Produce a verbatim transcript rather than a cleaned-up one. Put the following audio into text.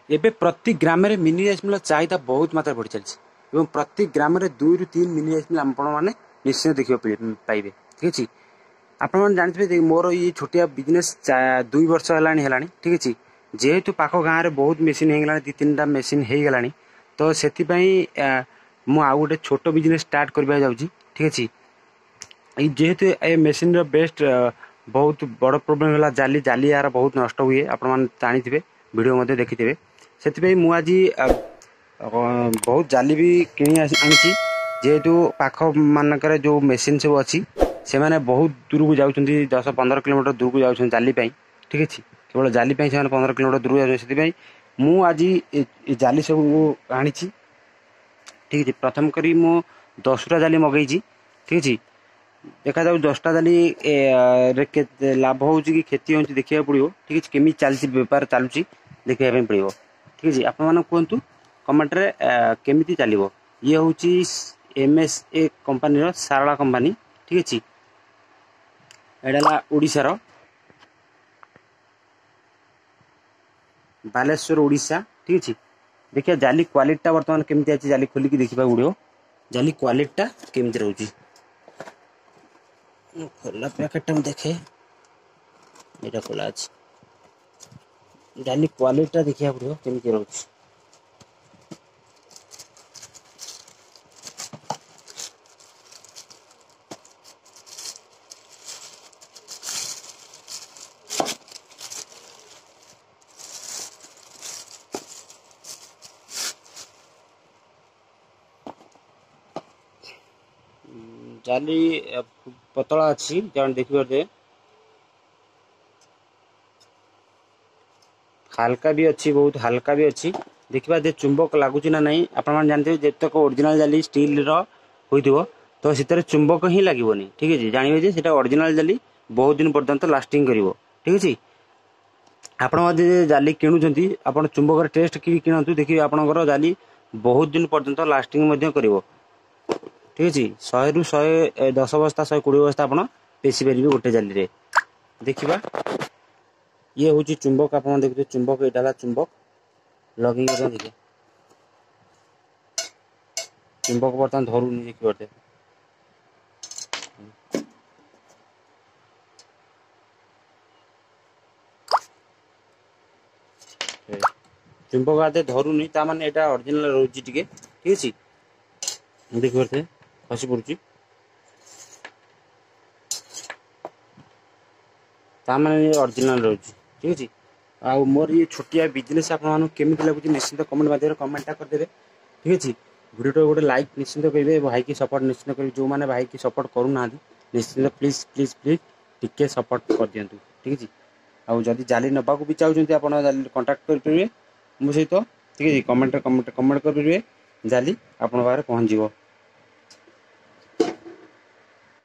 ଏବେ ପ୍ରତି ଗ୍ରାମରେ ମିନି ରାଇସ୍ ମିଲ୍ର ଚାହିଦା ବହୁତ ମାତ୍ରାରେ ବଢ଼ି ଚାଲିଛି ଏବଂ ପ୍ରତି ଗ୍ରାମରେ ଦୁଇରୁ ତିନି ମିନି ରାଇସ୍ ମିଲ୍ ଆପଣମାନେ ନିଶ୍ଚୟ ଦେଖିବାକୁ ପାଇବେ। ଠିକ୍ ଅଛି, ଆପଣମାନେ ଜାଣିଥିବେ ଯେ ମୋର ଏଇ ଛୋଟିଆ ବିଜନେସ୍ ଦୁଇ ବର୍ଷ ହେଲାଣି ହେଲାଣି ଠିକ୍ ଅଛି। ଯେହେତୁ ପାଖ ଗାଁରେ ବହୁତ ମେସିନ୍ ହେଇଗଲାଣି, ଦୁଇ ତିନିଟା ମେସିନ୍ ହେଇଗଲାଣି, ତ ସେଥିପାଇଁ ମୁଁ ଆଉ ଗୋଟେ ଛୋଟ ବିଜନେସ୍ ଷ୍ଟାର୍ଟ କରିବାକୁ ଯାଉଛି। ଠିକ୍ ଅଛି, ଏଇ ଯେହେତୁ ଏ ମେସିନ୍ର ବେଷ୍ଟ ବହୁତ ବଡ଼ ପ୍ରୋବ୍ଲେମ୍ ହେଲା ଜାଲି, ଜାଲି ଏହାର ବହୁତ ନଷ୍ଟ ହୁଏ, ଆପଣମାନେ ଜାଣିଥିବେ, ଭିଡ଼ିଓ ମଧ୍ୟ ଦେଖିଥିବେ। ସେଥିପାଇଁ ମୁଁ ଆଜି ବହୁତ ଜାଲି ବି କିଣି ଆଣିଛି। ଯେହେତୁ ପାଖ ମାନଙ୍କରେ ଯେଉଁ ମେସିନ୍ ସବୁ ଅଛି ସେମାନେ ବହୁତ ଦୂରକୁ ଯାଉଛନ୍ତି, ଦଶ ପନ୍ଦର କିଲୋମିଟର ଦୂରକୁ ଯାଉଛନ୍ତି ଜାଲି ପାଇଁ। ଠିକ୍ ଅଛି, କେବଳ ଜାଲି ପାଇଁ ସେମାନେ ପନ୍ଦର କିଲୋମିଟର ଦୂରକୁ ଯାଉଛନ୍ତି। ସେଥିପାଇଁ ମୁଁ ଆଜି ଏ ଜାଲି ସବୁ ଆଣିଛି। ଠିକ୍ ଅଛି, ପ୍ରଥମ କରି ମୁଁ ଦଶଟା ଜାଲି ମଗେଇଛି। ଠିକ୍ ଅଛି, ଦେଖାଯାଉ ଦଶଟା ଜାଲି ରେ କେତେ ଲାଭ ହେଉଛି କି କ୍ଷତି ହେଉଛି ଦେଖିବାକୁ ପଡ଼ିବ। ଠିକ୍ ଅଛି, କେମିତି ଚାଲିଛି ବେପାର ଚାଲୁଛି ଦେଖିବା ପାଇଁ ପଡ଼ିବ। ଠିକ୍ ଅଛି, ଆପଣମାନେ କୁହନ୍ତୁ କମେଣ୍ଟରେ କେମିତି ଚାଲିବ। ଇଏ ହେଉଛି ଏମ୍ ଏସ୍ ଏ କମ୍ପାନୀର ସାରଳା କମ୍ପାନୀ। ଠିକ୍ ଅଛି, ଏଇଟା ହେଲା ଓଡ଼ିଶାର ବାଲେଶ୍ୱର ଓଡ଼ିଶା। ଠିକ୍ ଅଛି, ଦେଖିବା ଜାଲି କ୍ୱାଲିଟିଟା ବର୍ତ୍ତମାନ କେମିତି ଅଛି, ଜାଲି ଖୋଲିକି ଦେଖିବାକୁ ପଡ଼ିବ ଜାଲି କ୍ୱାଲିଟିଟା କେମିତି ରହୁଛି। ଖୋଲା ପ୍ୟାକେଟଟା ମୁଁ ଦେଖେ, ଏଇଟା ଖୋଲା ଅଛି। ଜାଲି କ୍ୱାଲିଟିଟା ଦେଖିବାକୁ ପଡ଼ିବ କେମିତି ରହୁଛି। ଜାଲି ପତଳା ଅଛି, ଜଣେ ଦେଖିପାରୁଥିବେ, ହାଲକା ବି ଅଛି, ବହୁତ ହାଲକା ବି ଅଛି। ଦେଖିବା ଯେ ଚୁମ୍ବକ ଲାଗୁଛି ନା ନାହିଁ। ଆପଣମାନେ ଜାଣିଥିବେ ଯେତେକ ଅରିଜିନାଲ ଜାଲି ଷ୍ଟିଲ୍ର ହୋଇଥିବ ତ ସେଥିରେ ଚୁମ୍ବକ ହିଁ ଲାଗିବନି। ଠିକ୍ ଅଛି, ଜାଣିବେ ଯେ ସେଇଟା ଅରିଜିନାଲ ଜାଲି ବହୁତ ଦିନ ପର୍ଯ୍ୟନ୍ତ ଲାଷ୍ଟିଂ କରିବ। ଠିକ୍ ଅଛି, ଆପଣ ଯଦି ଜାଲି କିଣୁଛନ୍ତି ଆପଣ ଚୁମ୍ବକର ଟେଷ୍ଟ କରି କିଣନ୍ତୁ, ଦେଖିବେ ଆପଣଙ୍କର ଜାଲି ବହୁତ ଦିନ ପର୍ଯ୍ୟନ୍ତ ଲାଷ୍ଟିଂ ମଧ୍ୟ କରିବ। ଠିକ୍ ଅଛି, ଶହେରୁ ଶହେ ଦଶ ବସ୍ତା ଶହେ କୋଡ଼ିଏ ବସ୍ତା ଆପଣ ପେଶି ପାରିବେ ଗୋଟେ ଜାଲିରେ। ଦେଖିବା, ଇଏ ହେଉଛି ଚୁମ୍ବକ, ଆପଣ ଦେଖୁଥିବେ ଚୁମ୍ବକ, ଏଇଟା ହେଲା ଚୁମ୍ବକ ଲଗେଇକି ବର୍ତ୍ତମାନ ଦେଖିବା ଚୁମ୍ବକ ବର୍ତ୍ତମାନ ଧରୁନି, ଦେଖିପାରୁଥିବେ। ଚୁମ୍ବକ ଆଦେ ଧରୁନି, ତା ମାନେ ଏଇଟା ଅରିଜିନାଲ ରହୁଛି ଟିକେ। ଠିକ୍ ଅଛି, ଦେଖିପାରୁଥିବେ ଖସି ପଡ଼ୁଛି, ତା ମାନେ ଅରିଜିନାଲ ରହୁଛି। ଠିକ୍ ଅଛି, ଆଉ ମୋର ଇଏ ଛୋଟିଆ ବିଜନେସ୍ ଆପଣମାନଙ୍କୁ କେମିତି ଲାଗୁଛି ନିଶ୍ଚିନ୍ତ କମେଣ୍ଟ ମାଧ୍ୟମରେ କମେଣ୍ଟଟା କରିଦେବେ। ଠିକ୍ ଅଛି, ଭିଡ଼ିଓଟା ଗୋଟେ ଲାଇକ୍ ନିଶ୍ଚିନ୍ତ କରିବେ, ଭାଇକି ସପୋର୍ଟ ନିଶ୍ଚିନ୍ତ କରିବେ। ଯେଉଁମାନେ ଭାଇକି ସପୋର୍ଟ କରୁନାହାନ୍ତି ନିଶ୍ଚିନ୍ତ ପ୍ଲିଜ୍ ପ୍ଲିଜ୍ ପ୍ଲିଜ୍ ଟିକେ ସପୋର୍ଟ କରିଦିଅନ୍ତୁ। ଠିକ୍ ଅଛି, ଆଉ ଯଦି ଜାଲି ନେବାକୁ ବି ଚାହୁଁଛନ୍ତି ଆପଣ ଜାଲି କଣ୍ଟାକ୍ଟ କରିପାରିବେ ମୋ ସହିତ। ଠିକ୍ ଅଛି, କମେଣ୍ଟରେ କମେଣ୍ଟ କମେଣ୍ଟ କରିପାରିବେ, ଜାଲି ଆପଣଙ୍କ ପାଖରେ ପହଞ୍ଚିଯିବ।